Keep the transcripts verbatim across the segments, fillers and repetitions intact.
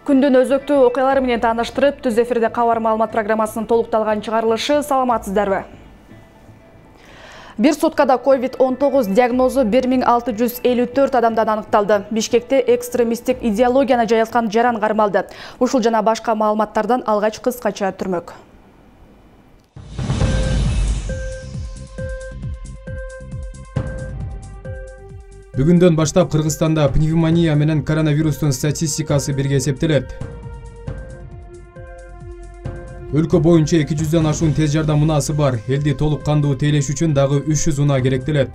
Күндүн өзөктүү окуялары менен тааныштырып, Түз эфирде кабар маалымат программасынын толукталган чыгарылышы. Саламатсыздарбы? Бир суткада ковид он тогуз диагнозу бир миң алты жүз элүү төрт адамдан аныкталды. Бишкекте экстремисттик идеологияны жайылткан жаран кармалды. Ушул жана башка маалыматтардан алгач кыскача түрмөк. Бүгүндөн баштап Кыргызстанда пневмония менен коронавирустун статистикасы бирге эсептелет. Өлкө боюнча эки жүздөн ашуун тез жардам унаасы бар. Элди толук кандуу тейлеш үчүн дагы үч жүз унаа керектелет.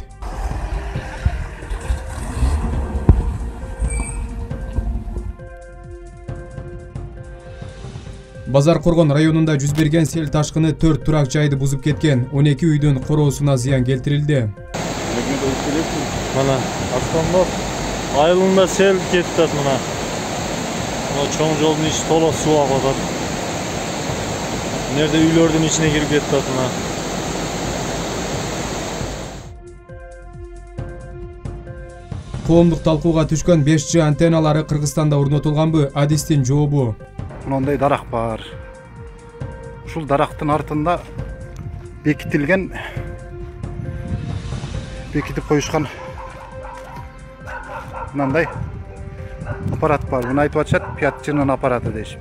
Базар Коргон районунда жүз берген сел ташкыны төрт турак жайды бузуп кеткен. он эки үйдүн короосуна зыян келтирилди. Mana Aslanbop айылында сел кетти атат мына. Мына чоң жолдун ичи толо суу агып атат. Нерде үйлөрдүн ичине кирип кетти атат мына. Коомдук талкууга түшкөн беш джи антенналары Кыргызстанда орнотулганбы? Адистин жообу. Мындай дарак бар. Ушул дарактын артында бекитилген бекитип коюшкан мындай аппарат бар. Муну айтып атышат, пять джинын аппараты дейшип.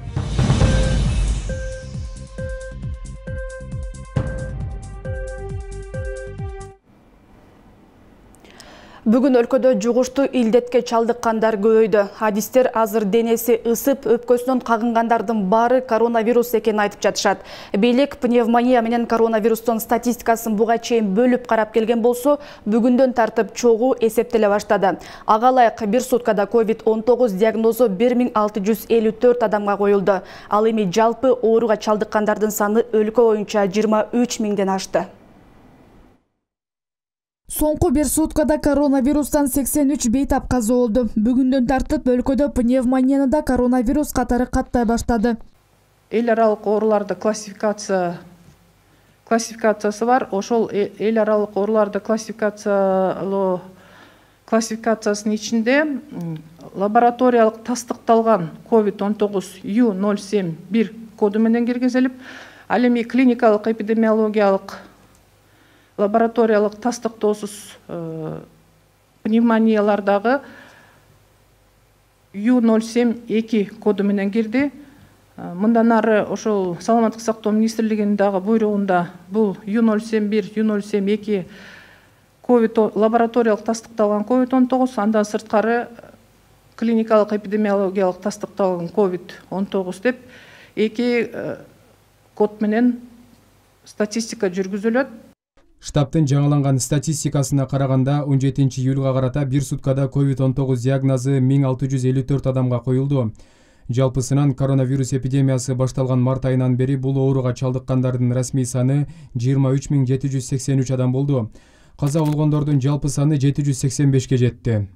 Бүгүн өлкөдө жугуштуу илдетке чалдыккандар көбөйдү. Адистер азыр денеси ысып, өпкөсүнөн кагынгандардын баары коронавирус экенин айтып жатышат. Бийлик пневмония менен коронавирустун статистикасын буга чейин бөлүп карап келген болсо, бүгүндөн тартып чогуу эсептеле баштады. Ага ылайык бир суткада ковид он тогуз диагнозу бир миң алты жүз элүү төрт адамга коюлду. Ал эми жалпы ооруга чалдыккандардын саны өлкө боюнча жыйырма үч миңден ашты. Соңку бир суткада коронавирустан сексен үч бейтап каза болду. Бүгүндөн тартып өлкөдө пневмонияны да коронавирус катары каттай баштады. Эл аралык ооруларды классификация классификациясы бар. Ошол эл аралык ооруларды классификациялоо классификациясынын ичинде лабораториялык тастыкталган ковид он тогуз ю ноль семь бир коду менен киргизилип, ал эми клиникалык эпидемиологиялык лабораториялык тастыктоосуз пневмониялардагы ю ноль семь эки коду менен кирди. Мындан ары ошол саламаттык сактоо министрлигинин дагы буйругунда бул ю ноль семь бир, ю ноль семь эки ковид лабораториялык тастыкталган ковид он тогуз, андан сырткары клиникалык эпидемиологиялык тастыкталган ковид он тогуз деп эки код менен статистика жүргүзүлөт. Штабтын жаңыланган статистикасына караганда он жетинчи июлга карата бир суткада ковид он тогуз диагнозу миң алты жүз элүү төрт адамга коюлду. Жалпысынан коронавирус эпидемиясы башталган март айынан бери бул ооруга чалдыккандардын расмий саны жыйырма үч миң жети жүз сексен үч адам болду. Каза болгондордун жалпы саны жети жүз сексен бешке жетти.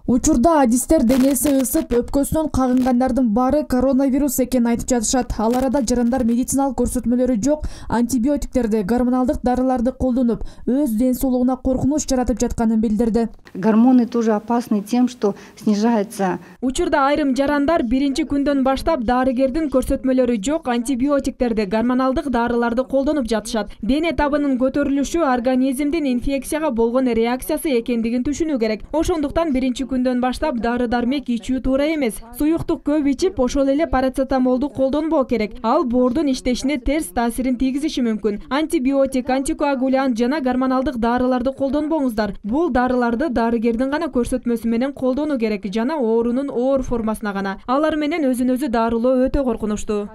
Учурда адистер денеси ысып, өпкөсүнөн кагынгандардын баары коронавирус экенин айтып жатышат. Ал арада жарандар медициналык көрсөтмөлөрү жок антибиотиктерди, гормоналдык дарыларды колдонуп, өз ден соолугуна коркунуч жаратып жатканын билдирди. Гормоны тоже опасны тем, что снижается. Учурда айрым жарандар биринчи күндөн баштап дарыгердин көрсөтмөлөрү жок антибиотиктерди, гормоналдык дарыларды колдонуп жатышат. Дене табынын көтөрүлүшү организмдин инфекцияга болгон реакциясы экендигин түшүнүү керек. Ошондуктан биринчи күндөн баштап дары-дармек ичүү туура эмес. Суюктук көп ичип, ошол эле парацетамолду колдонбоо керек. Ал боордун иштешине терс таасирин тийгизиши мүмкүн. Антибиотик, антикоагулянт жана гормоналдык дарыларды колдонбоңуздар. Бул дарыларды дарыгердин гана көрсөтмөсү менен колдонуу керек жана оорунун оор формасына гана. Алар менен өзүн өзү дарылоо өтө коркунучтуу.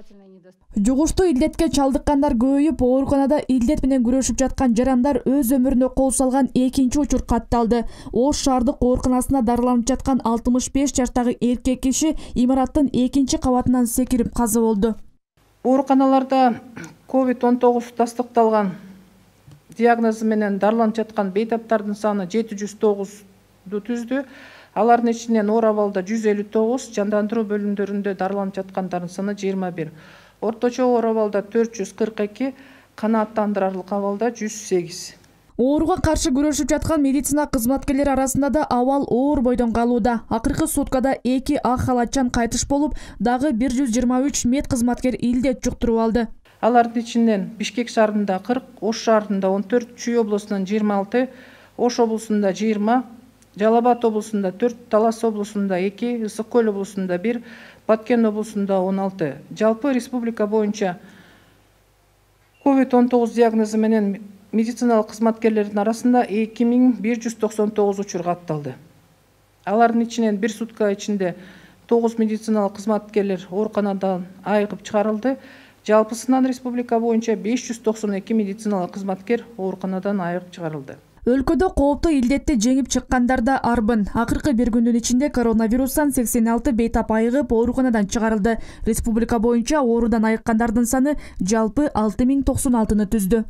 Жугуштуу илдетке чалдыккандар көбөйүп, ооруканада илдет менен күрөшүп жаткан жарандар өз өмүрүнө кол салган экинчи учур катталды. Ош шаардык ооруканасына дарыланып жаткан алтымыш беш жаштагы эркек киши имараттын экинчи кабатынан секирип каза болду. Ооруканаларда ковид он тогуз тастыкталган диагнозу менен дарыланып жаткан бейтаптардын саны жети жүз тогузду түздү. Алардын ичинен оор абалда жүз элүү тогуз, жандандыруу бөлүмдөрүндө дарыланып жаткандардын саны жыйырма бир. Орточо оор абалда төрт жүз кырк эки, канааттандырарлык абалда жүз сегиз. Ооруга каршы күрөшүп жаткан медицина кызматкерлери арасында да абал оор бойдон калууда. Акыркы суткада эки ак халатчан кайтыш болуп, дагы бир жүз жыйырма үч мед кызматкер илдет жуктуруп алды. Алардын ичинен Бишкек шаарында кырк, Ош шаарында он төрт, Чүй облусунан жыйырма алты, Ош облусунда жыйырма, Жалал Абад облусунда төрт, Талас облусунда эки, Ысык Көл облусунда бир, Баткен облусунда он алты. Жалпы республика боюнча ковид он тогуз диагнозу менен медициналык кызматкерлердин арасында эки миң бир жүз токсон тогуз учур катталды. Алардын ичинен бир сутка ичинде тогуз медициналык кызматкерлер ооруканадан айыгып чыгарылды. Жалпысынан республика боюнча беш жүз токсон эки медициналык кызматкер ооруканадан айыгып чыгарылды. Өлкөдө кооптуу илдетти жеңип чыккандар да арбын. Акыркы бир күндүн ичинде коронавирустан сексен алты бейтап айыгып ооруканадан чыгарылды. Республика боюнча оорудан айыккандардын саны жалпы алты миң токсон алтыны түздү.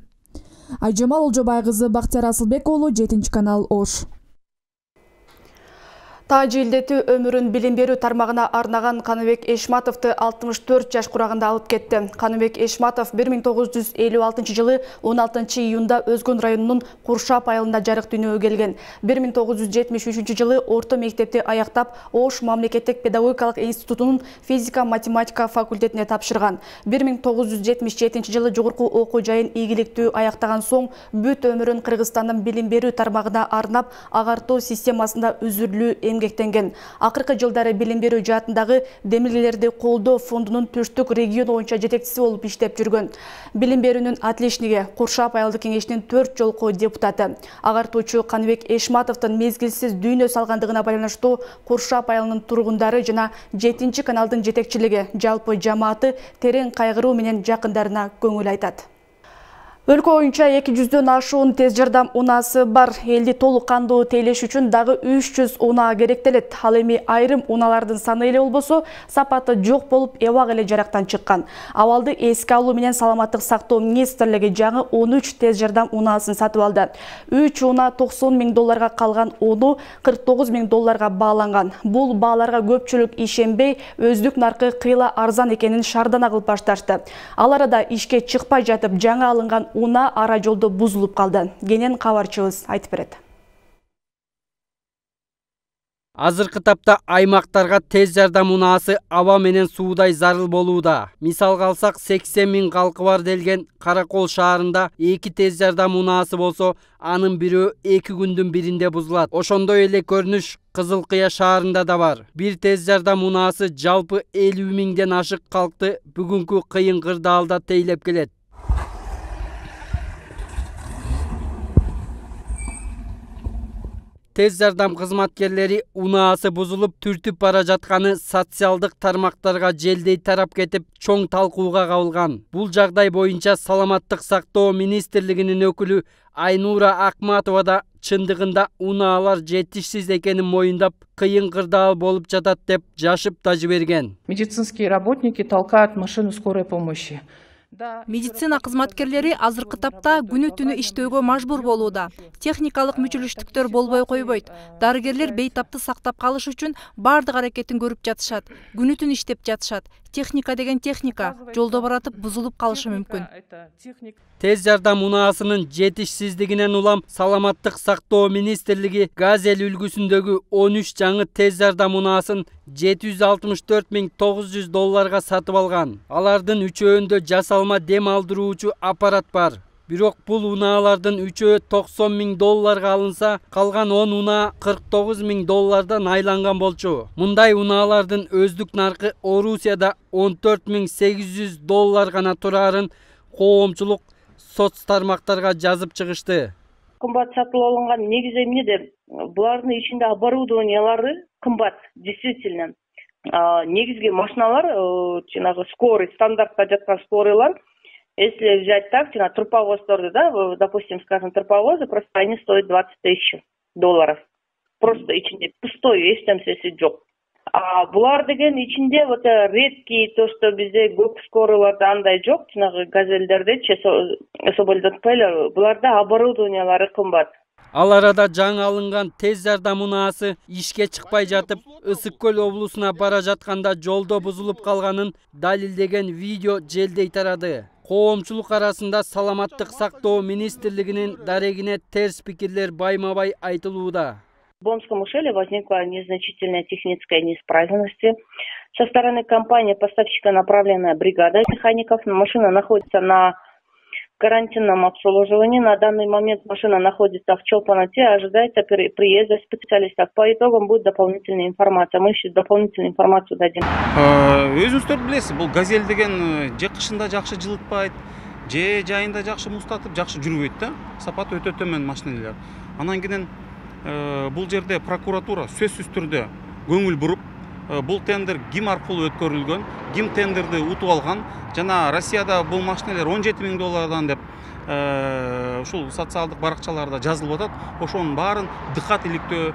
Айжамал Олжобай кызы, Бактияр Асылбек уулу, жетинчи канал, Ош. Тажы илдети өмүрүн билим берүү тармагына арнаган Каныбек Эшматовду алтымыш төрт жаш курагында алып кетти. Каныбек Эшматов бир миң тогуз жүз элүү алтынчы жылы он алтынчы июнда Өзгөн районунун Куршап айылында жарык дүйнөгө келген. бир миң тогуз жүз жетимиш үчүнчү жылы орто мектепти аяктап, Ош мамлекеттик педагогикалык институтунун физика-математика факультетине тапшырган. бир миң тогуз жүз жетимиш жетинчи жылы жогорку окуу жайын ийгиликтүү аяктаган соң бүт өмүрүн Кыргызстандын билим берүү тармагына арнап, агартуу системасында үзүрлүү эмгектенген. Акыркы жылдары билим берүү жаатындагы демилгелерди колдоо фондунун Түштүк регион боюнча жетекчиси болуп иштеп жүргөн. Билим берүүнүн отличниги, Куршап айылдык кеңешинин төрт жолку депутаты. Агартуучу Каныбек Эшматовдун мезгилсиз дүйнө салгандыгына байланыштуу Куршап айылынын тургундары жана жетинчи каналдын жетекчилиги, жалпы жамааты терең кайгыруу менен жакындарына көңүл айтат. Өлкө боюнча эки жүздөн ашуун тез жардам унаасы бар. Элди толук кандуу тейлеш үчүн дагы үч жүз унаа керектелет. Ал эми айрым унаалардын саны эле болбосо, сапаты жок болуп, эбак эле жарактан чыккан. Абалды эске алуу менен саламаттык сактоо министрлиги жаңы он үч тез жардам унаасын сатып алды. үч унаа токсон миң долларга, калган ону кырк тогуз миң долларга бааланган. Бул бааларга көпчүлүк ишенбей, өздүк наркы кыйла арзан экенин шардана кылып башташты. Ал арада ишке чыкпай жатып, жаңы алынган уна ара жолдо бузулуп калды. Кенен кабарчыбыз айтып берет. Азыркы тапта аймактарга тез жардам унаасы аба менен суудай зарыл болууда. Мисалга алсак, сексен миң калкы бар делген Каракол шаарында эки тез жардам унаасы болсо, анын бирөө эки күндүн биринде бузулат. Ошондой эле көрүнүш Кызыл Кыя шаарында да бар. Бир тез жардам унаасы жалпы элүү миңден ашык калкты бүгүнкү кыйын кырдаалда тейлеп келет. Тез жардам кызматкерлери унаасы бузулуп түртүп бара жатканы социалдык тармактарга желдей тарап кетип, чоң талкууга кабылган. Бул жагдай боюнча Саламаттык сактоо министрлигинин өкүлү Айнура Акматова да чындыгында унаалар жетишсиз экенин моюндап, кыйын кырдаал болуп жатат деп жашып да жиберген. Медицинские работники толкают машину скорой помощи. Медицина кызматкерлери азыркы тапта күнү түнү иштөөгө мажбур болууда. Техникалык мүчүлүштүктөр болбой койбойт. Дарыгерлер бейтапты сактап калыш үчүн бардык аракетин көрүп жатышат. Күнү түнү иштеп жатышат. Техника деген техника, жолдо баратып бузулуп калышы мүмкүн. Тез жардам унаасынын жетишсиздигинен улам Саламаттык сактоо министрлиги Газель үлгүсүндөгү он үч жаңы тез жардам унаасын жети жүз алтымыш төрт миң тогуз жүз долларга сатып алган. Алардын үчөөндө жасалма дем алдыруучу аппарат бар. Бирок бул унаалардын үчөө токсон миң долларга алынса, калган он унаа кырк тогуз миң доллардан айланган болчу. Мындай унаалардын өздүк наркы Орусияда он төрт миң сегиз жүз доллар гана турарын коомчулук соц тармактарга жазып чыгышты. Кымбат сатып алынган негизи эмнеде? Булардын ичинде оборудованиялары кымбат, действительно. Негизги машиналар, жанагы скорый, стандартта жаткан скорыйлар, если взять так, жана турповоздорду, да, допустим, скажем, турповозы, просто они стоят двадцать тысяч долларов. Просто ичинде пустой, эч нерсеси жок. А булар деген ичинде вот редкий, то, что бизде көп скорыйларда андай жок, жанагы газелдердечи, соболдотпой эле, буларда оборудованиялары кымбат. Ал арада жаңы алынган тез жардам унаасы ишке чыкпай жатып, Ысык Көл облусуна бара жатканда жолдо бузулуп калганын далилдеген видео желдей тарады. Коомчулук арасында саламаттык сактоо министрлигинин дарегине терс пикирлер байма-бай айтылууда. В Бонском ушеле возникла незначительная техническая неисправность. Со стороны компании поставщика направлена бригада механиков. Машина находится на карантинном обслуживании. На данный момент машина находится в Чолпаноте. Ожидается приезда специалистов. По итогам будет дополнительная информация. Мы еще дополнительную информацию дадим. Өзүңүздөр билесиз, бул газель деген же кышында жакшы жылытпайт, же жайында жакшы муздатып, жакшы жүрбөйт да. Сапаты өтө төмөн машиналар. Анан кийин бул жерде прокуратура сөзсүз түрдө көңүл буруп, бул тендер ким аркылуу өткөрүлгөн, ким тендерди утуп алган, жана Россияда бул машиналар он жети миң доллардан деп ушул социалдык баракчаларда жазылып атат. Ошонун баарын дыкат иликтөө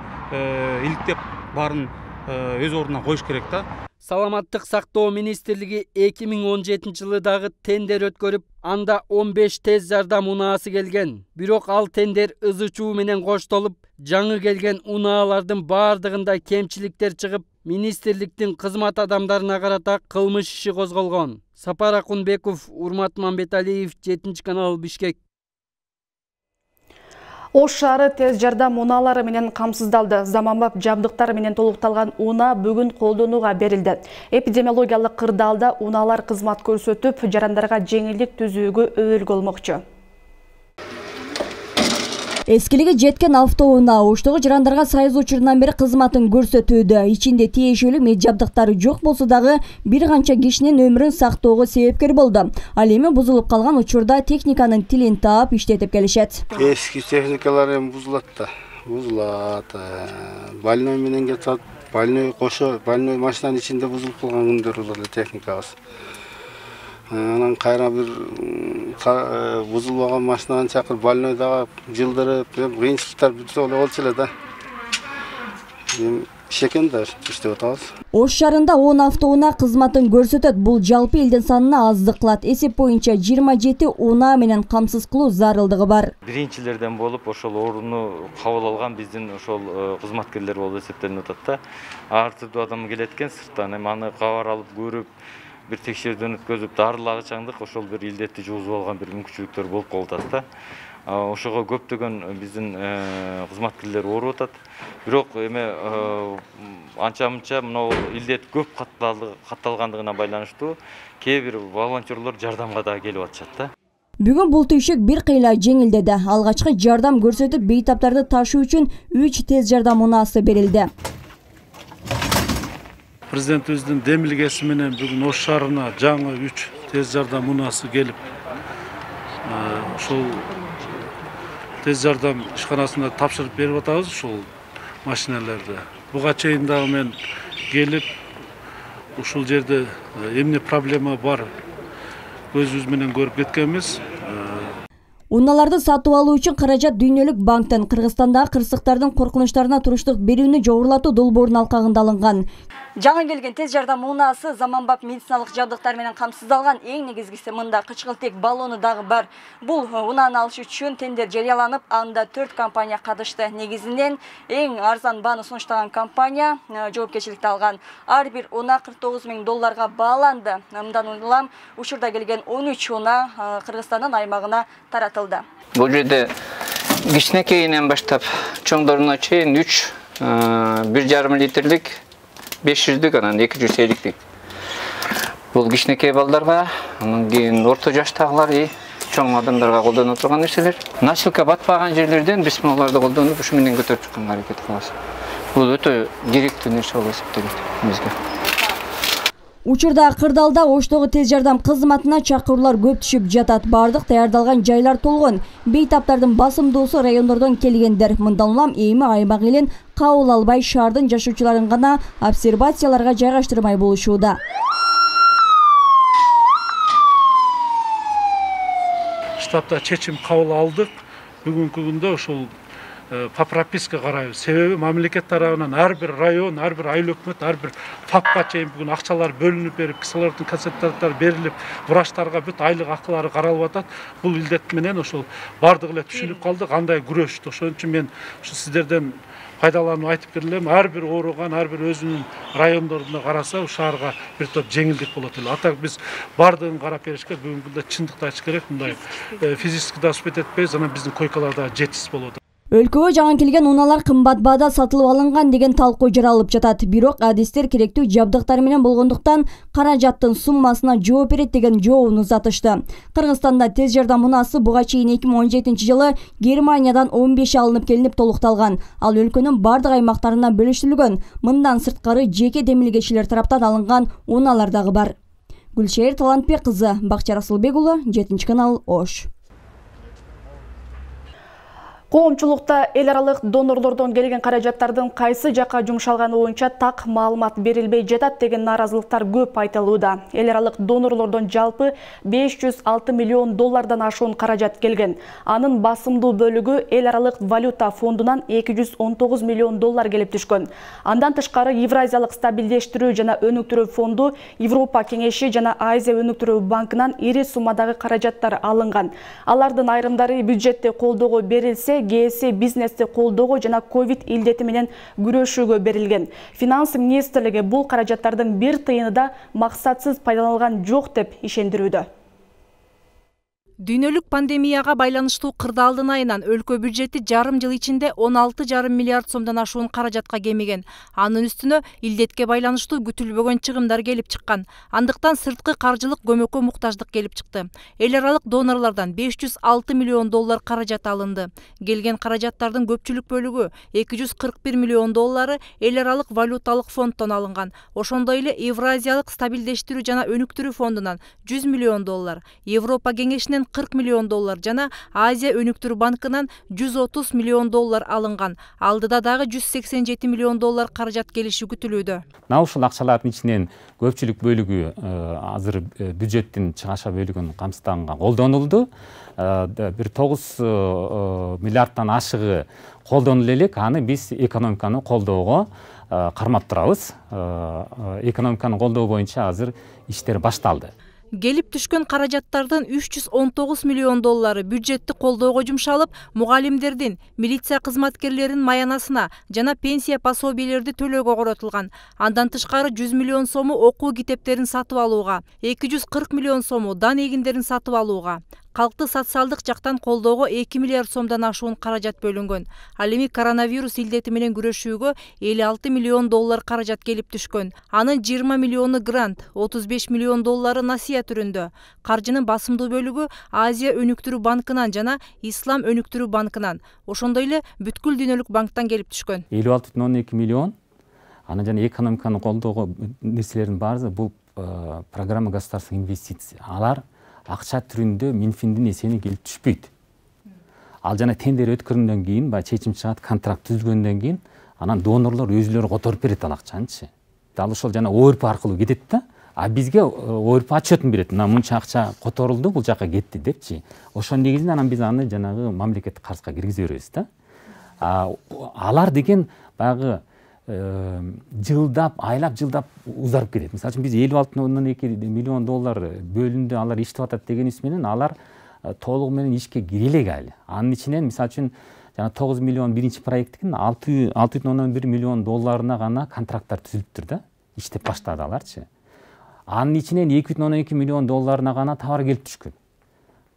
иликтеп баарын өз ордуна коюш керек да. Саламаттык сактоо министрлиги эки миң он жетинчи жылы дагы тендер өткөрүп, анда он беш тез жардам унаасы келген. Бирок ал тендер ызы чуу менен коштолуп, жаңы келген унаалардын баардыгында кемчиликтер чыгып, министрликтин кызмат адамдарына карата кылмыш иши козголгон. Сапар Акунбеков, Урмат Мамбеталиев, жетинчи канал, Бишкек. Ош шаары тез жардам унаалары менен камсыздалды. Заманбап жабдыктар менен толукталган унаа бүгүн колдонууга берилди. Эпидемиологиялык кырдаалда унаалар кызмат көрсөтүп, жарандарга жеңилдик түзүүгө өбөлгө болмокчу. Эскилиги жеткен автоунаа Оштогу жарандарга сайыз учурунан бери кызматын көрсөтүүдө. Ичинде тиешелүү мед жабдыктары жок болсо дагы бир канча кишинин өмүрүн сактоого себепкер болду. Ал эми бузулуп калган учурда техниканын тилин таап иштетип келишет. Эски техникалар эми бузулат да, бузулат. Больной менен кетет, больной кошо, больной машинанын ичинде бузулуп калган күндөр болот техникабыз. Анан кайра бир бузулбаган машинаны чакырып, больной дагы жылдырып, кыйынчылыктар бүтө болчу эле да. Шекен да иштеп атабыз. Ош шаарында он автоунаа кызматын көрсөтөт. Бул жалпы элдин санына аздык кылат. Эсеп боюнча жыйырма жети унаа менен камсыз кылуу зарылдыгы бар. Биринчилерден болуп, ошол орунду кабыл алган биздин ошол кызматкерлер болуп эсептелип атат да. Ар түрдүү адам келет экен сырттан, эми аны кабар алып көрүп, бир текшерүүдөн өткөзүп, дарылага чаңдык ошол бир илдетти жугузуп алган бир мүмкүнчүлүктөр болуп калып атат да. Ошого көптөгөн биздин кызматкерлер ооруп атат. Бирок эме анча-мынча мынау илдет көп катталгандыгына байланыштуу кээ бир волонтерлор жардамга да келип атышат да. Бүгүн бул түйшүк бир кыйла жеңилдеди. Алгачкы жардам көрсөтүп, бейтаптарды ташуу үчүн үч тез жардам унаасы берилди. Президентибиздин демилгеси менен бүгүн Ош шаарына жаңы үч тез жардам унаасы келип, ошол тез жардам ишканасына тапшырып берип атабыз ушул машиналарды. Буга чейин дагы мен келип, ушул жерде эмне проблема бар көзүбүз менен көрүп кеткенбиз. Унааларды сатып алуу үчүн каражат дүйнөлүк банктан Кыргызстандагы кырсыктардын коркунучтарына туруштук берүүнү жогорулатуу долбоорунун алкагында алынган. Жаңы келген тез жардам унаасы заманбап медициналык жабдыктар менен камсыздалган. Эң негизгиси мында кычкылтек баллону дагы бар. Бул унааны алыш үчүн тендер жарыяланып, анда төрт компания катышты. Негизинен эң арзан бааны сунуштаган компания жоопкерчиликти алган. Ар бир унаа кырк тогуз миң долларга бааланды. Мындан улам учурда келген он үч унаа Кыргызстандын аймагына таратылды. Бул жерде кичинекейинен баштап чоңдоруна чейин үч бир жарым литрлик, беш жүздүк, анан эки жүз эликтик. Бул кичинекей балдарга, анан кийин орто жаштагылар и чоң адамдарга колдоно турган нерселер. Насилка батпаган жерлерден биз мунуларды колдонуп, ушу менен көтөрүп чыкканга аракет кылабыз. Бул өтө керектүү нерсе болуп эсептелет бизге. Учурда кырдаалда Оштогу тез жардам кызматына чакыруулар көп түшүп жатат. Бардык даярдалган жайлар толгон. Бейтаптардын басымдуусу райондордон келгендер. Мындан улам эми аймак элин кабыл албай, шаардын жашоочуларын гана обсервацияларга жайгаштырмай болушууда. Штабта чечим кабыл алдык. Бүгүнкү күндө ошол по прописке карайбыз. Себеби мамлекет тарабынан ар бир район, ар бир айыл өкмөт, ар бир фапка чейин бүгүн акчалар бөлүнүп берип, кислороддун концентраторлору берилип, врачтарга бүт айлык акылары каралып атат. Бул илдет менен ошол бардыгы эле түшүнүп калды, кандай күрөштү. Ошон үчүн мен ушу сиздерден пайдаланып айтып келем, ар бир ооруган, ар бир өзүнүн райондорунда караса, шаарга бир топ жеңилдик болот эле. Атак биз бардыгын карап беришке бүгүнкү күндө чындыкты айтыш керек, мындай физически да успеть этпейбиз, анан биздин койкалар да жетишсиз болот. Өлкөгө жаңы келген унаалар кымбат баада сатылып алынган деген талкуу жаралып жатат. Бирок адистер керектүү жабдыктар менен болгондуктан каражаттын суммасына жооп берет деген жообун узатышты. Кыргызстанда тез жардам унаасы буга чейин эки миң он жетинчи жылы Германиядан он беш алынып келинип толукталган. Ал өлкөнүн бардык аймактарына бөлүштүрүлгөн. Мындан сырткары жеке демилгечилер тараптан алынган унаалар дагы бар. Гүлшер Талантбек кызы, Бакча Расылбек уулу, жетинчи канал, Ош. Коомчулукта эл аралык донорлордон келген каражаттардын кайсы жакка жумшалганы боюнча так маалымат берилбей жатат деген нааразылыктар көп айтылууда. Эл аралык донорлордон жалпы беш жүз алты миллион доллардан ашуун каражат келген. Анын басымдуу бөлүгү эл аралык валюта фондунан эки жүз он тогуз миллион доллар келип түшкөн. Андан тышкары Евразиялык стабилдештирүү жана өнүктүрүү фонду, Европа кеңеши жана Азия өнүктүрүү банкынан ири суммадагы каражаттар алынган. Алардын айрымдары бюджетте колдоого берилсе, ГС бизнести колдоого жана ковид илдети менен күрөшүүгө берилген. Финанс министрлиги бул каражаттардын бир тыйыны да максатсыз пайдаланылган жок деп ишендирүүдө. Дүйнөлүк пандемияга байланыштуу кырдаалдын айынан өлкө бюджети жарым жыл ичинде он алты жарым миллиард сомдон ашуун каражатка кемиген. Анын үстүнө илдетке байланыштуу күтүлбөгөн чыгымдар келип чыккан. Андыктан сырткы каржылык көмөккө муктаждык келип чыкты. Эл аралык донорлордон беш жүз алты миллион доллар каражат алынды. Келген каражаттардын көпчүлүк бөлүгү эки жүз кырк бир миллион доллары эл аралык валюталык фонддон алынган. Ошондой эле Евразиялык стабилдештирүү жана өнүктүрүү фондунан жүз миллион доллар, Европа кеңешинен кырк миллион доллар жана Азия өнүктүрүү банкынан жүз отуз миллион доллар алынган. Алдыда дагы жүз сексен жети миллион доллар каражат келиши күтүлүүдө. Мына ушул акчалардын ичинен көпчүлүк бөлүгү азыр бюджеттин чыгаша бөлүгүн камсыздаганга колдонулду. Бир тогуз миллиардтан ашыгы колдонула элек, аны биз экономиканы колдоого кармап турабыз. Экономиканы колдоо боюнча азыр иштер башталды. Келип түшкөн каражаттардын үч жүз он тогуз миллион доллары бюджетти колдоого жумшалып, мугалимдердин, милиция кызматкерлеринин маянасына жана пенсия пособиелерди төлөөгө коротулган. Андан тышкары жүз миллион сому окуу китептерин сатып алууга, эки жүз кырк миллион сому дан эгиндерин сатып алууга, калкты социалдык жактан колдоого эки миллиард сомдон ашуун каражат бөлүнгөн. Ал эми коронавирус илдети менен күрөшүүгө элүү алты миллион доллар каражат келип түшкөн. Анын жыйырма миллиону грант, отуз беш миллион доллары насыя түрүндө. Каржынын басымдуу бөлүгү Азия өнүктүрүү банкынан жана Ислам өнүктүрүү банкынан, ошондой эле бүткүл дүйнөлүк банктан келип түшкөн. элүү алты бүтүн ондон эки миллион аны жана экономиканы колдоого нерселердин баары бул программа государственных инвестиций. Алар акча түрүндө Минфиндин эсебине келип түшпөйт. Ал жана тендер өткөргөндөн кийин, баягы чечим чыгат, контракт түзүлгөндөн кийин, анан донорлор өзүлөрү которуп берет ал акчанычы. Дал ошол жана ОРП аркылуу кетет да. А бизге ОРП отчетун берет. Мына мынча акча которулду, бул жака кетти депчи. Ошонун негизинде анан биз аны жанагы мамлекеттик карызга киргизе беребиз да. Алар деген баягы жылдап, айлап жылдап узарып кетет. Мисалы үчүн биз элүү алты бүтүн ондон эки миллион доллар бөлүндү, алар иштеп атат дегенибиз менен алар толугу менен ишке кире элек али. Анын ичинен мисалы үчүн жана тогуз миллион биринчи проекттин алты бүтүн ондон бир миллион долларына гана контракттар түзүлүптүр да. Иштеп баштады аларчы. Анын ичинен эки бүтүн ондон эки миллион долларына гана товар келип түшкөн.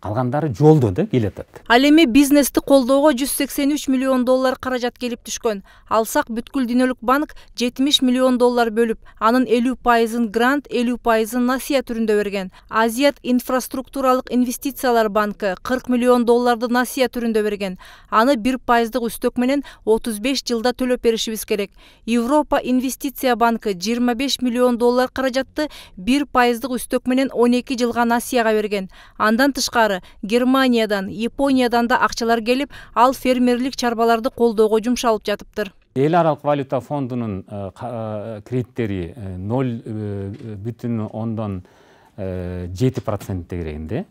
Калгандары жолдо да келатат. Ал эми бизнести колдоого жүз сексен үч миллион доллар каражат келип түшкөн. Алсак бүткүл дүйнөлүк банк жетимиш миллион доллар бөлүп, анын элүү пайызын грант, элүү пайызын насыя түрүндө берген. Азият инфраструктуралык инвестициялар банкы кырк миллион долларды насыя түрүндө берген. Аны бир пайыздык үстөк менен отуз беш жылда төлөп беришибиз керек. Европа инвестиция банкы жыйырма беш миллион доллар каражатты бир пайыздык үстөк менен он эки жылга насыяга берген. Андан тышкары Германиядан, Япониядан да акчалар келип, ал фермерлик чарбаларды колдоого жумшалып жатыптыр. Эл аралык валюта фондунун кредиттери ноль бүтүн ондон жети процент дегенде.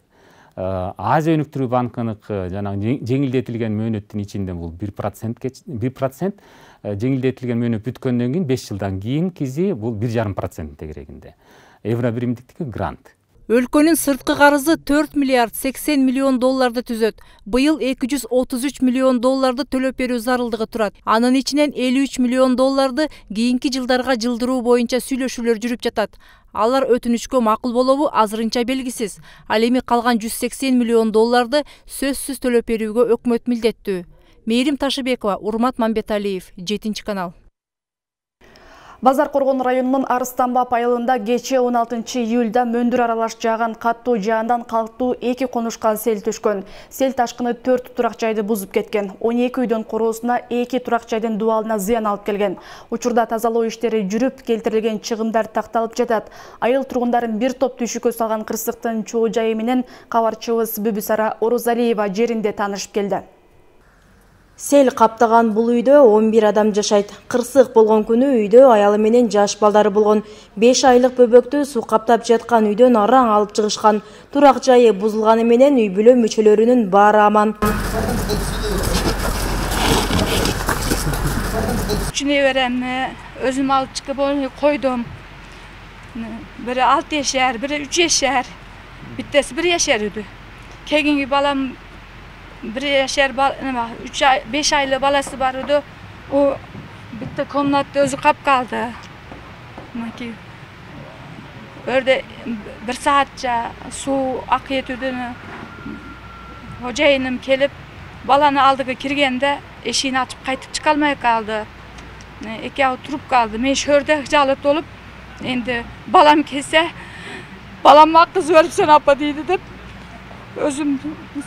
Азия өнүктүрүү банкыныкы жанагы жеңилдетилген мөөнөттүн ичинде бул бир процент бир процент жеңилдетилген мөөнөт бүткөндөн кийин беш жылдан кийин кизи бул бир жарым процент дегенде. Евро биримдиктики грант. Өлкөнүн сырткы карызы төрт миллиард сексен миллион долларды түзөт. Быйыл эки жүз отуз үч миллион долларды төлөп берүү зарылдыгы турат. Анын ичинен элүү үч миллион долларды кийинки жылдарга жылдыруу боюнча сүйлөшүүлөр жүрүп жатат. Алар өтүнүчкө макул болобу азырынча белгисиз. Ал эми калган жүз сексен миллион долларды сөзсүз төлөп берүүгө өкмөт милдеттүү. Мээрим Ташыбекова, Урмат Мамбеталиев, жетинчи канал. Базар Коргон районунун Арыстанбап айылында кечээ он алтынчы июлда мөндүр аралаш жааган каттуу жаандан калктуу эки конушка сел түшкөн. Сел ташкыны төрт турак жайды бузуп кеткен. он эки үйдөн короосуна, эки турак жайдын дубалына зыян алып келген. Учурда тазалоо иштери жүрүп, келтирилген чыгымдар такталып жатат. Айыл тургундарын бир топ түшүккө салган кырсыктын чоо жайы менен кабарчыбыз Бүбүсара Орозалиева жеринде таанышып келди. Сел каптаган бул үйдө он бир адам жашайт. Кырсык болгон күнү үйдө аялы менен жаш балдары болгон. беш айлык бөбөктү суу каптап жаткан үйдөн араң алып чыгышкан. Турак жайы бузулганы менен үй бүлө мүчөлөрүнүн баары аман. Үчүнө берем, өзүм алып чыгып койдум. Бири алты жашар, бири үч жашар. Биттеси бир жашар үйдү. Кегинги балам bir yaşar üç ay beş aylı balası vardı. O bitti komnatta özü kap kaldı. Maki orada bir saatça su akıp ödünü. Hocayınım kelip balanı aldığı kirgende eşiğini açıp kaytıp çıkalmaya kaldı. Eki oturup kaldı. Men şörde jalıp dolup endi balam kese balamma kız verip sen apa deydi dep özüm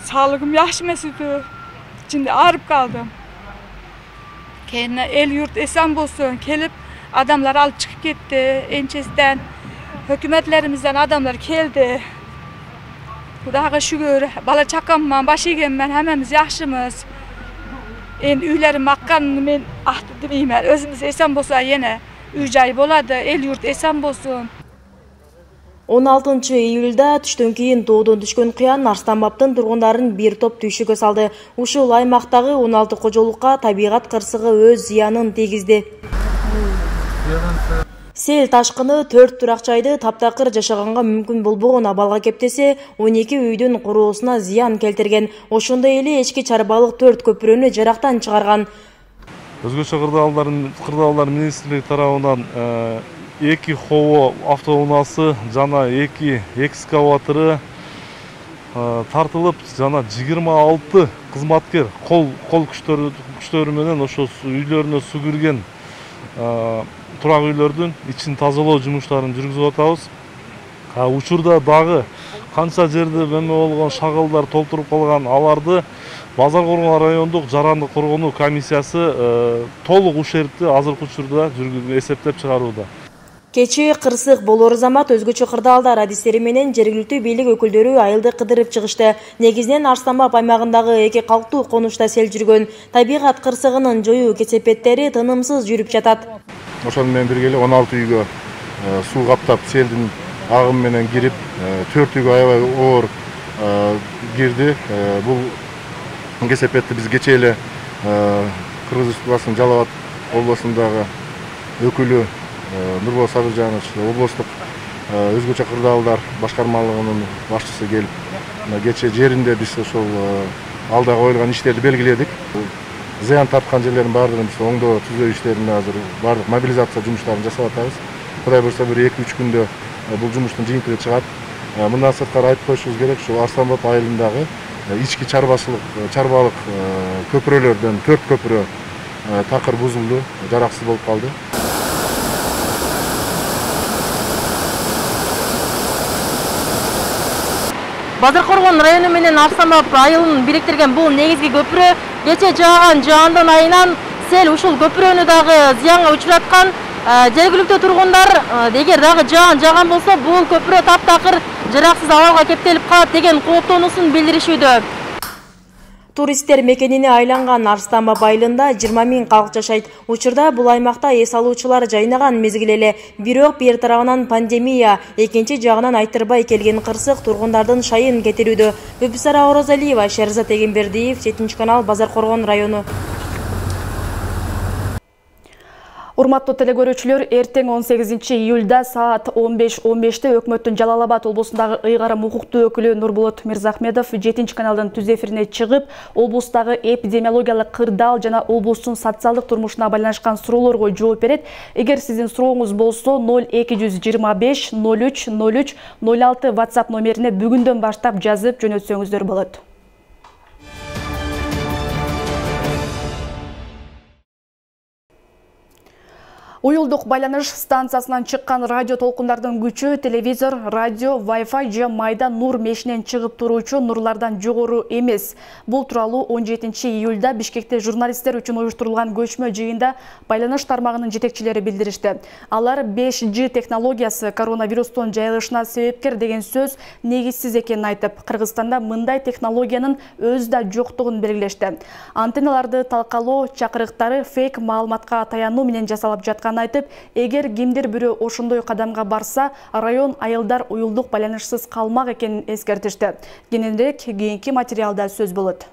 sağlığım yaxşı mesidi. İçinde ağrıp kaldım. Kendine el yurt esen bolsun kelip adamlar alıp çıkıp gitti. Ençesinden hükümetlerimizden adamlar geldi. Xudaga şükür bala çakamman, baş egenmen hemmemiz yaxşımız. Endi üylerim akkanını men ahtı demeymen. Özümüz esen bolsa yine üy jay boladı, el yurt esen bolsun. он алтынчы июлда түштөн кийин тоодон түшкөн кыян Арыстанбаптын тургундарын бир топ түйшүккө салды. Ушул аймактагы он алты кожолукка табигат кырсыгы өз зыянын тийгизди. Сел ташкыны төрт турак жайды таптакыр жашаганга мүмкүн болбогон абалга кептесе, он эки үйдүн куроосуна зыян келтирген. Ошондой эле эчки чарбалык төрт көпүрөнү жарактан чыгарган. Өзгөчө кырдаалдардын кырдаалдар министрлиги тарабынан эки хово автоунаасы жана эки экскаватору тартылып, жана жыйырма алты кызматкер кол кол күчтөрү күчтөрү менен ошо үйлөрүнө суу кирген турак үйлөрдүн ичин тазалоо жумуштарын жүргүзүп атабыз. Учурда дагы канча жерде эме болгон шагалдар толтуруп калган, аларды Базар Коргон райондук жарандык коргонуу комиссиясы толук ушерпти азыркы учурда эсептеп чыгарууда. Кечээ кырсык болор замат өзгөчө кырдаалдар адистери менен жергиликтүү бийлик өкүлдөрү айылды кыдырып чыгышты. Негизинен Арыстанбап аймагындагы эки калктуу конушта сел жүргөн. Табигат кырсыгынын жоюу кесепеттери тынымсыз жүрүп жатат. Ошону менен бирге эле он алты үйгө суу каптап селдин агымы менен кирип, төрт үйгө аябай оор кирди. Бул кесепетти биз кечээ эле Кыргыз Республикасынын Жалал Абад областындагы өкүлү Нурбол Сабыржанович, облустук өзгөчө кырдаалдар башкармалыгынын башчысы келип, кечээ жеринде биз ошол алдыга коюлган иштерди белгиледик. Зыян тарткан жерлердин баардыгын биз оңдоо түзөө иштерин азыр баардык мобилизация жумуштарын жасап атабыз. Кудай буюрса бир эки үч күндө бул жумуштун жыйынтыгы чыгат. Мындан сырткары айтып коюшубуз керек, ушул Арыстанбап айылындагы ички чарбачылык чарбалык көпүрөлөрдөн төрт көпүрө такыр бузулду, жараксыз болуп калды. Базар Коргон району менен Арыстанбап айылын бириктирген бул негизги көпүрө кечээ жааган жаандын айынан сел ушул көпүрөнү дагы зыянга учураткан. Жергиликтүү тургундар эгер дагы жаан жааган болсо бул көпүрө таптакыр жараксыз абалга кептелип калат деген кооптонуусун билдиришүүдө. Туристтер мекенине айланган Арыстанбап айылында жыйырма миң калк жашайт. Учурда бул аймакта эс алуучулар жайнаган мезгил эле. Бирок бир тарабынан пандемия, экинчи жагынан айтырбай келген кырсык тургундардын шайын кетирүүдө. Бүбүсара Орозалиева, Шерзат Эгембердиев, жетинчи канал, Базар Коргон району. Урматтуу телекөрүүчүлөр, эртең он сегизинчи июлда саат он беш он беште өкмөттүн Жалал Абад облусундагы ыйгарым укуктуу өкүлү Нурбулат Мирзахмедов жетинчи каналдын түз эфирине чыгып, облустагы эпидемиологиялык кырдаал жана облустун социалдык турмушуна байланышкан суроолорго жооп берет. Эгер сиздин сурооңуз болсо ноль эки жүз жыйырма беш ноль үч ноль үч ноль алты WhatsApp номерине бүгүндөн баштап жазып жөнөтсөңүздөр болот. Уюлдук байланыш станциясынан чыккан радио толкундардын күчү телевизор, радио, Wi-Fi же майда нур мешинен чыгып туруучу нурлардан жогору эмес. Бул тууралуу он жетинчи июлда Бишкекте журналисттер үчүн уюштурулган көчмө жыйында байланыш тармагынын жетекчилери билдиришти. Алар беш джи технологиясы коронавирустун жайылышына себепкер деген сөз негизсиз экенин айтып, Кыргызстанда мындай технологиянын өзү да жоктугун белгилешти. Антенналарды талкалоо чакырыктары фейк маалыматка таянуу менен жасалып жаткан айтып, эгер кимдир бирөө ошондой кадамга барса, район айылдар уюлдук байланышсыз калмак экенин эскертишти. Кененирээк кийинки материалда сөз болот.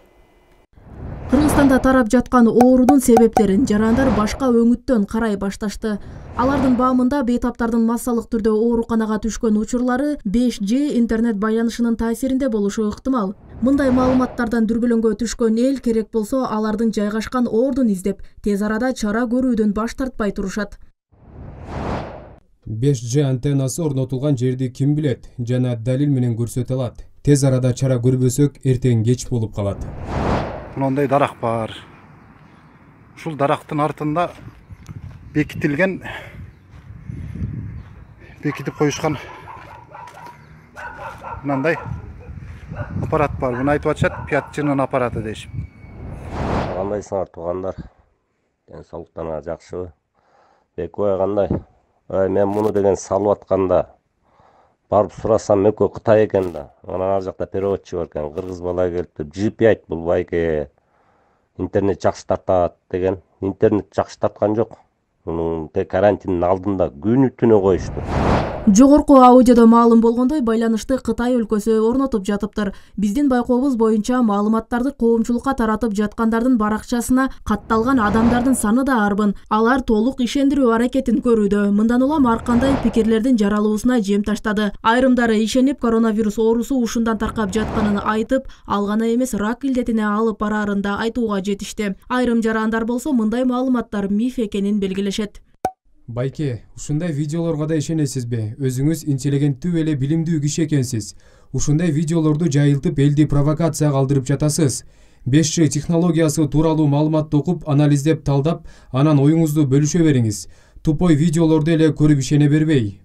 Кыргызстанда тарап жаткан оорунун себептерин жарандар башка өңүттөн карай башташты. Алардын баамында бейтаптардын массалык түрдө ооруканага түшкөн учурлары беш джи интернет байланышынын таасиринде болушу ыктымал. Мындай маалыматтардан дүрбөлөңгө түшкөн эл керек болсо алардын жайгашкан ордун издеп, тез арада чара көрүүдөн баш тартпай турушат. беш джи антеннасы орнотулган жерди ким билет жана далил менен көрсөтө алат. Тез арада чара көрбөсөк, эртең кеч болуп калат. Мындай дарак бар. Ушул дарактын артында бекитилген бекитип коюшкан мындай аппарат бар. Буну айтып атышат, пять джинын аппараты дейшип. Кандайсыңар туугандар? Ден соолуктарыңар жакшыбы? Бекбай кандай? Ай, мен муну деген салып атканда барып сурасам, экөө Кытай экен да. Анан ар жакта переводчу бар экен. Кыргыз бала келип, джи пять бул байке интернет жакшы тартат деген. Интернет жакшы тарткан жок. Мунун тек карантиндин алдында күнү түнү коюшту. Жогорку аудиодо маалым болгондой, байланышты Кытай өлкөсү орнотуп жатыптыр. Биздин байкообуз боюнча маалыматтарды коомчулукка таратып жаткандардын баракчасына катталган адамдардын саны да арбын. Алар толук ишендирүү аракетин көрүүдө. Мындан улам ар кандай пикирлердин жаралуусуна жем таштады. Айрымдары ишенип, коронавирус оорусу ушундан таркап жатканын айтып, ал гана эмес рак илдетине алып бараарын да айтууга жетишти. Айрым жарандар болсо мындай маалыматтар миф экенин белгилешет. Байке, ушундай видеолорго да ишенесизби? Өзүңүз интеллигенттүү эле билимдүү киши экенсиз. Ушундай видеолорду жайылтып, элди провокацияга алдырып жатасыз. беш джи технологиясы тууралуу маалыматты окуп, анализдеп, талдап, анан оюңузду бөлүшө бериңиз. Тупой видеолорду эле көрүп ишене бербей.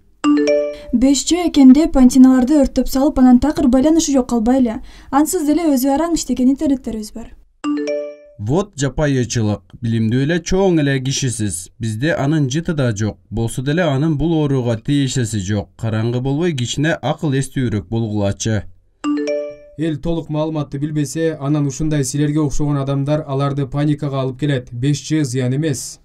беш джи экен деп антенналарды өрттөп салып, анан такыр байланышы жок калбайлы. Ансыз деле өзү араң иштеген интернеттерибиз бар. Вот жапайычылык, билимдүү эле чоң эле кишисиз. Бизде анын жыты да жок. Болсо деле анын бул ооруга тиешеси жок. Караңгы болбой кичине акыл эстүүрөөк болгулачы. Эл толук маалыматты билбесе, анан ушундай силерге окшогон адамдар аларды паникага алып келет. беш джи зыян эмес.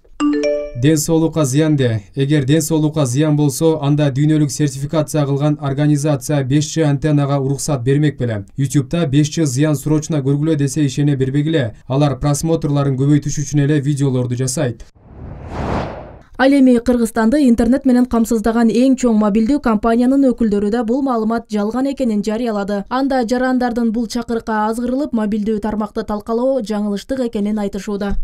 Ден соолукка зыян де. Эгер ден соолукка зыян болсо, анда дүйнөлүк сертификация кылган организация беш джи антеннага уруксат бермек беле. YouTube'да беш джи зыян срочно көргүлө десе ишене бербегиле. Алар просмотрларын көбөйтүш үчүн эле видеолорду жасайт. Ал эми Кыргызстанды интернет менен камсыздаган эң чоң мобилдүү компаниянын өкүлдөрү да бул маалымат жалган экенин жарыялады. Анда жарандардын бул чакырыкка азгырылып, мобилдүү тармакты талкалоо жаңылыштык экенин айтышууда.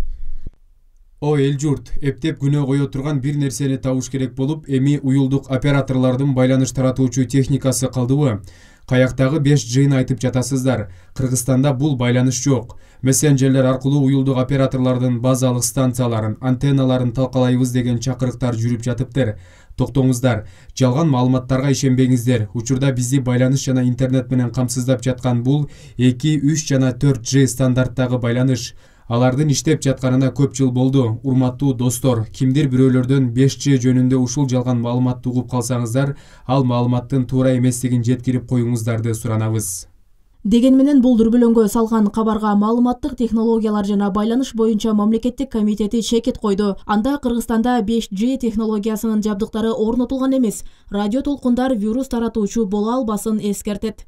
О эл журт, эптеп күнөө кое турган бир нерсени табыш керек болуп, эми уюлдук операторлордун байланыш таратуучу техникасы калдыбы? Каяктагы беш джини айтып жатасыздар. Кыргызстанда бул байланыш жок. Мессенджерлер аркылуу уюлдук операторлордун базалык станцияларын, антенналарын талкалайбыз деген чакырыктар жүрүп жатыптыр. Токтоңуздар, жалган маалыматтарга ишенбеңиздер. Учурда бизди байланыш жана интернет менен камсыздап жаткан бул эки, үч жана төрт джи стандарттагы байланыш. Алардын иштеп жатканына көп жыл болду. Урматтуу достор, кимдир бирөөлөрдөн беш джи жөнүндө ушул жалган маалыматты угуп калсаңыздар, ал маалыматтын туура эместигин жеткирип коюңуздарды суранабыз. Деген менен бул дүрбөлөңгө салган кабарга маалыматтык технологиялар жана байланыш боюнча мамлекеттик комитети чекит койду. Анда Кыргызстанда беш джи технологиясынын жабдыктары орнотулган эмес. Радио толкундар вирус таратуучу боло албасын эскертет.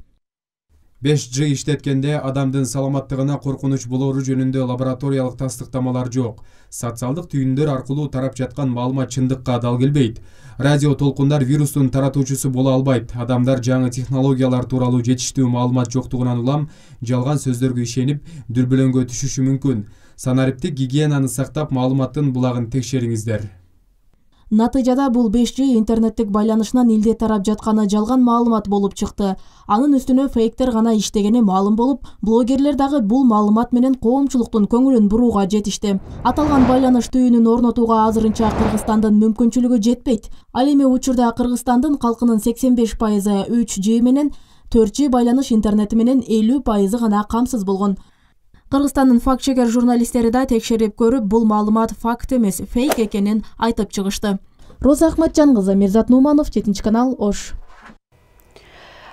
беш джи иштеткенде адамдын саламаттыгына коркунуч болору жөнүндө лабораториялык тастыктамалар жок. Социалдык түйүндөр аркылуу тарап жаткан маалымат чындыкка дал келбейт. Радио толкундар вирустун таратуучусу боло албайт. Адамдар жаңы технологиялар тууралуу жетиштүү маалымат жоктугунан улам жалган сөздөргө ишенип, дүрбөлөңгө түшүшү мүмкүн. Санариптик гигиенаны сактап, маалыматтын булагын текшериңиздер. Натыйжада бул беш джи интернеттик байланышынан илде тарап жатканы жалган маалымат болуп чыкты. Анын үстүнө фейктер гана иштегени маалым болуп, блогерлер дагы бул маалымат менен коомчулуктун көңүлүн бурууга жетишти. Аталган байланыш түйүнүн орнотууга азырынча Кыргызстандын мүмкүнчүлүгү жетпейт. Ал эми учурда Кыргызстандын калкынын сексен беш пайызы үч джи менен, төрт джи байланыш интернети менен элүү пайызы гана камсыз болгон. Кыргызстандын факт-чекер журналисттери да текшерип көрүп, бул маалымат факт эмес, фейк экенин айтып чыгышты. Роза Ахматжан кызы, Мирзат Нуманов, жетинчи канал, Ош.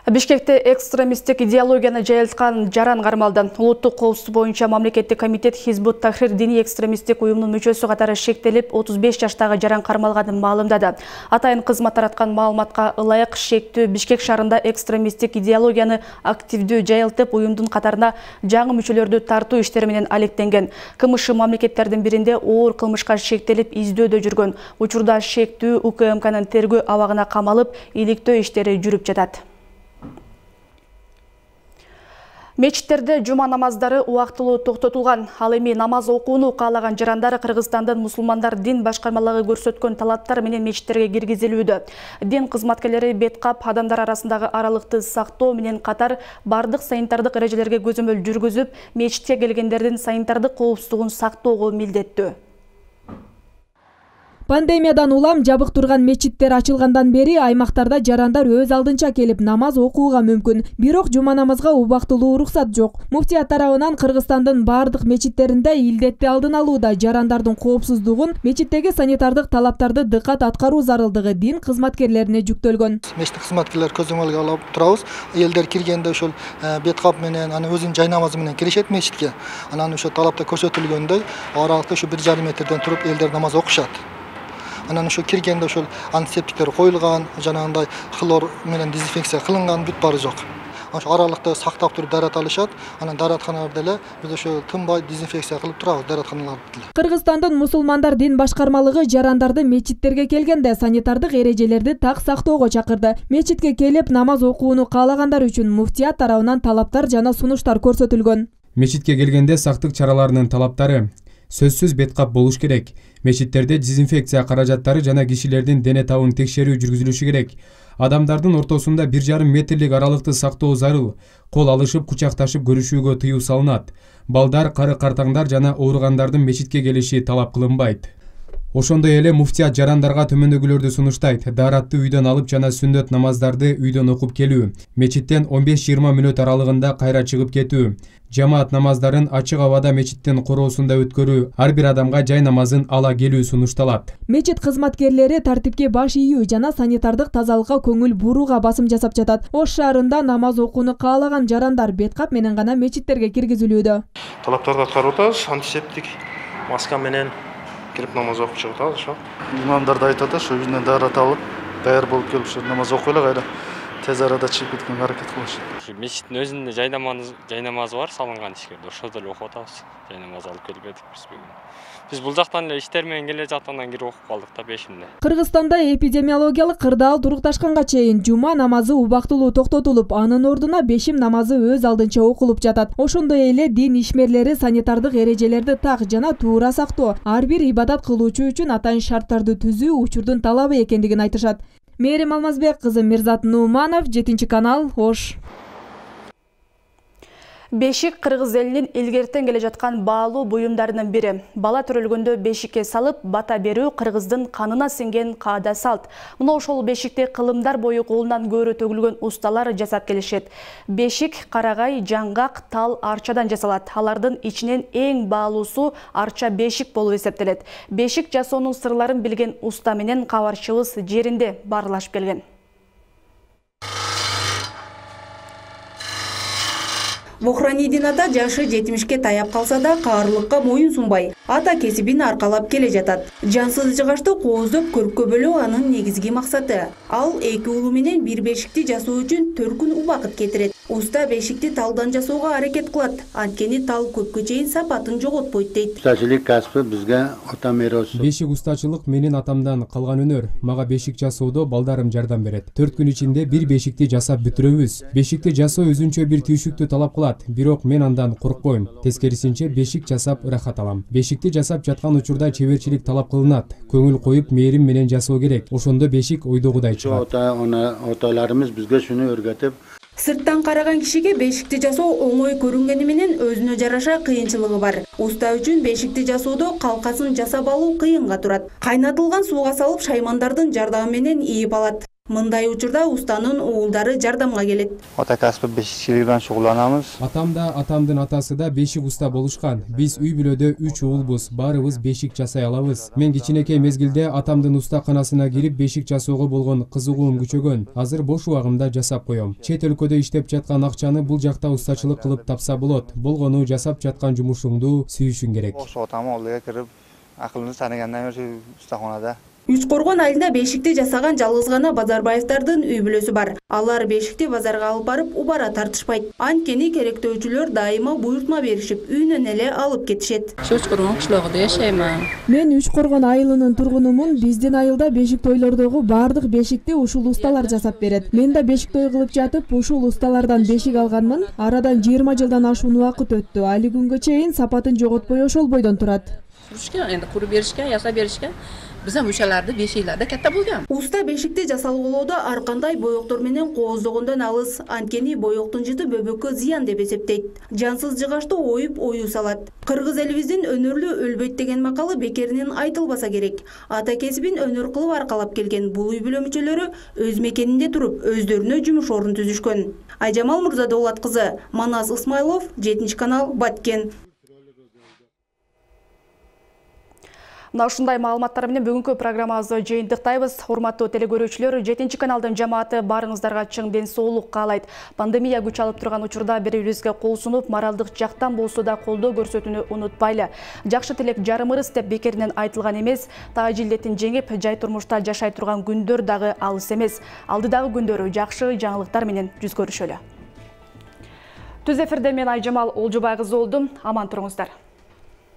Бишкекте экстремисттик идеологияны жайылткан жаран кармалды. Улуттук коопсуздук боюнча мамлекеттик комитет Хизбут Тахрир диний экстремисттик уюмунун мүчөсү катары шектелип, отуз беш жаштагы жаран кармалганын маалымдады. Атайын кызмат тараткан маалыматка ылайык шектүү Бишкек шаарында экстремисттик идеологияны активдүү жайылтып, уюмдун катарына жаңы мүчөлөрдү тартуу иштери менен алектенген. КМШ мамлекеттердин биринде оор кылмышка шектелип издөөдө жүргөн. Учурда шектүү УКМКнын тергөө абагына камалып, иликтөө иштери жүрүп жатат. Мечиттерде жума намаздары убактылуу токтотулган. Ал эми намаз окууну каалаган жарандар Кыргызстандын мусулмандар дин башкармалыгы көрсөткөн талаптар менен мечиттерге киргизилүүдө. Дин кызматкерлери бет кап, адамдар арасындагы аралыкты сактоо менен катар бардык санитардык эрежелерге көзөмөл жүргүзүп, мечитке келгендердин санитардык коопсуздугун сактоого милдеттүү. Пандемиядан улам жабык турган мечиттер ачылгандан бери аймактарда жарандар өз алдынча келип намаз окууга мүмкүн. Бирок жума намазга убактылуу уруксат жок. Муфтият тарабынан Кыргызстандын бардык мечиттеринде илдетти алдын алууда жарандардын коопсуздугун, мечиттеги санитардык талаптарды дыкат аткаруу зарылдыгы дин кызматкерлерине жүктөлгөн. Мечит кызматкерлер көзөмөлгө алып турабыз. Элдер киргенде ошол бет кап менен, аны өзүнүн жай намазы менен киришет мечитке. Анан ошо талапта көрсөтүлгөндөй аралыкта ошо бир жарым метрден туруп элдер намаз окушат. Анан ошо киргенде ошол антисептиктер коюлган, жанагындай хлор менен дезинфекция кылынган, бүт бары жок. Ошо аралыкты сактап туруп дарат алышат. Анан даратканаларда эле биз ошо тынбай дезинфекция кылып турабыз даратканаларды. Кыргызстандын мусулмандар дин башкармалыгы жарандарды мечиттерге келгенде санитардык эрежелерди так сактоого чакырды. Мечитке келип намаз окууну каалагандар үчүн муфтият тарабынан талаптар жана сунуштар көрсөтүлгөн. Мечитке келгенде сактык чараларынын талаптары: сөзсүз бет кап болуш керек. Мечиттерде дезинфекция каражаттары жана кишилердин дене табын текшерүү жүргүзүлүшү керек. Адамдардын ортосунда бир жарым метрлик аралыкты сактоо зарыл. Кол алышып, кучакташып көрүшүүгө тыюу салынат. Балдар, кары картаңдар жана ооругандардын мечитке келиши талап кылынбайт. Ошондой эле муфтият жарандарга төмөндөгүлөрдү сунуштайт. Даратты үйдөн алып жана сүннөт намаздарды үйдөн окуп келүү. Мечиттен он беш жыйырма мүнөт аралыгында кайра чыгып кетүү. Жамаат намаздарын ачык абада мечиттин короосунда өткөрүү. Ар бир адамга жай намазын ала келүү сунушталат. Мечит кызматкерлери тартипке баш ийүү жана санитардык тазалыкка көңүл бурууга басым жасап жатат. Ош шаарында намаз окууну каалаган жарандар бет кап менен гана мечиттерге киргизилүүдө. Талаптарды аткарып атабыз, антисептик маска менен кирип намаз окуп чыгып атабыз ошо. Имамдар да айтат, ошо үйүнөн дарат алып, даяр болуп келип ошо намаз окуй эле кайра тез арада чыгып кеткенге аракет кылышат. Ушу мечиттин өзүндө жай намаз, жай намазы бар салынган ишкерде. Ошодо эле окуп атабыз. Жай намаз алып келип едик биз бүгүн. Биз бул жактан эле иштер менен келе жаткандан кирип окуп калдык да бешинде. Кыргызстанда эпидемиологиялык кырдаал турукташканга чейин жума намазы убактылуу токтотулуп, анын ордуна бешим намазы өз алдынча окулуп жатат. Ошондой эле дин ишмерлери санитардык эрежелерди так жана туура сактоо, ар бир ибадат кылуучу үчүн атайын шарттарды түзүү учурдун талабы экендигин айтышат. Мээрим Алмазбек кызы, Мирзат Нуманов, жетинчи канал, Ош. Бешик кыргыз элинин илгертен келе жаткан баалуу буюмдарынын бири. Бала төрөлгөндө бешикке салып бата берүү кыргыздын канына сиңген каада салт. Мына ошол бешикти кылымдар бою колунан көөрө төгүлгөн усталар жасап келишет. Бешик карагай, жаңгак, тал, арчадан жасалат. Алардын ичинен эң баалуусу арча бешик болуп эсептелет. Бешик жасоонун сырларын билген уста менен кабарчыбыз жеринде барлашып келген. Вохранидин ата жашы жетимишке таяп калса да каарлыкка моюн сунбай, ата кесибин аркалап келе жатат. Жансыз жыгачты кооздоп көркөбөлөө анын негизги максаты. Ал эки улуу менен бир бешикти жасоо үчүн төрт күн убакыт кетирет. Уста бешикти талдан жасоого аракет кылат. Анткени тал көпкө чейин сапатын жоготпойт дейт. Ustaçılık kasbı bizge ota mirosu. Бешик устачылык менин атамдан калган өнөр. Мага бешик жасоодо балдарым жардам берет. төрт күн ичинде бир бешикти жасап бүтүрөбүз. Бешикти жасоо өзүнчө бир түйшүктү талап кылат, бирок мен андан коркпойм. Тескерисинче бешик жасап ырахат алам. Бешикти жасап жаткан учурда чеберчилик талап кылынат. Көңүл коюп мээрим менен жасоо керек. Ошондо бешик ойдогудай чыгат. Ota ona otalarımız bizge şunu öğretip Сырттан караган кишиге бешикти жасоо оңой көрүнгөнү менен өзүнө жараша кыйынчылыгы бар. Уста үчүн бешикти жасоодо калкасын жасап алуу кыйынга турат. Кайнатылган сууга салып шаймандардын жардамы менен ийип алат. Мындай учурда устанын уулдары жардамга келет. ota kasbı beşikçilik bilen şugullanamız. Атам да, атамдын атасы да бешик уста болушкан. Биз үй бүлөдө үч уулбуз, баарыбыз бешик жасай алабыз. Мен кичинекей мезгилде атамдын устаканасына кирип бешик жасоого болгон кызыгуум күчөгөн. Азыр бош убагымда жасап коем. Чет өлкөдө иштеп жаткан акчаны бул жакта устачылык кылып тапса болот. Болгону жасап жаткан жумушуңду сүйүшүң керек. Ошо отамы олдуга кирип акылымды тааныгандан кийин устаханада Үч Коргон айылында бешикти жасаган жалгыз гана Базарбаевдардын үй бүлөсү бар. Алар бешикти базарга алып барып убара тартышпайт. Анткени керектөөчүлөр дайыма буйртма беришип, үйүнөн эле алып кетишет. Үч Коргон кышлогунда жашайм. Мен Үч Коргон айылынын тургунумун. Биздин айылда бешик тойлордогу баардык бешикти ушул усталар жасап берет. Мен да бешик той кылып жатып, ушул усталардан бешик алганмын. Арадан жыйырма жылдан ашуун убакыт өттү. Али күнгө чейин сапатын жоготпой ошол бойдон турат. Турушка, энди куруп беришке, ясап беришке Биздин мушаларды бешиклерде катта болгон. Уста бешикти жасалгылоодо ар кандай боектор менен кооздогондон алыс, анткени боектун жыты бөбөккө зыян деп эсептейт. Жансыз жыгачты оюп ою салат. Кыргыз элибиздин өнөрлүү өлбөйт деген макалы бекеринен айтылбаса керек. Ата кесибин өнөр кылып аркалап келген бул үй бүлө мүчөлөрү өз мекенинде туруп, өздөрүнө жумуш орун түзүшкөн. Айжамал Мурзадолат кызы, Манас Исмайлов, жетинчи канал, Баткен. Мына ушундай маалыматтар менен бүгүнкү программабызды жыйынтыктайбыз. Урматтуу телекөрүүчүлөр, жетинчи каналдын жамааты баарыңыздарга чың ден соолук каалайт. Пандемия күч алып турган учурда бири-бирибизге кол сунуп, моралдык жактан болсо да колдоо көрсөтүүнү унутпайлы. Жакшы тилек жарымырыс деп бекеринен айтылган эмес. Тааж илдетин жеңип, жай турмушта жашай турган күндөр дагы алыс эмес. Алдыдагы күндөрү жакшы жаңылыктар менен жүз көрүшөлү. Түз эфирде мен Айжамал Олжобай кызы болдум. Аман туруңуздар.